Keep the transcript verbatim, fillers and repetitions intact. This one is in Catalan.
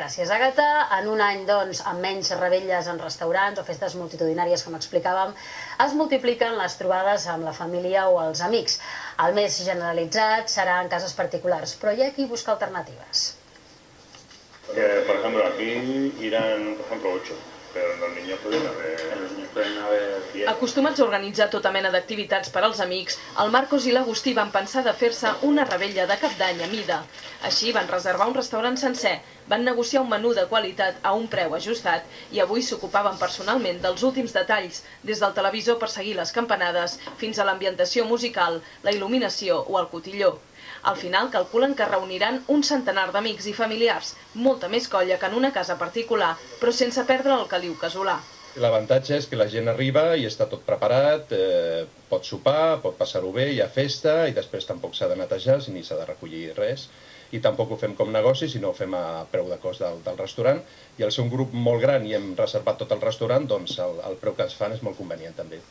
Gràcies, Àgata. En un any, doncs, amb menys revetlles en restaurants o festes multitudinàries, com explicàvem, es multipliquen les trobades amb la família o els amics. El més generalitzat serà en cases particulars, però hi ha qui busca alternatives. Que, por ejemplo, aquí irán, por ejemplo, ocho, pero los niños pueden haber... Los niños pueden haber diez. Acostumats a organitzar tota mena d'activitats per als amics, el Marcos i l'Agustí van pensar de fer-se una revetlla de cap d'any a mida. Així van reservar un restaurant sencer, van negociar un menú de qualitat a un preu ajustat i avui s'ocupaven personalment dels últims detalls, des del televisor per seguir les campanades fins a l'ambientació musical, la il·luminació o el cotilló. Al final calculen que reuniran un centenar d'amics i familiars, molta més colla que en una casa particular, però sense perdre el caliu casolà. L'avantatge és que la gent arriba i està tot preparat, eh, pot sopar, pot passar-ho bé, hi ha festa i després tampoc s'ha de netejar ni s'ha de recollir res. I tampoc ho fem com negoci, sinó ho fem a preu de cost del, del restaurant. I al ser un grup molt gran i hem reservat tot el restaurant, doncs el, el preu que ens fan és molt convenient també.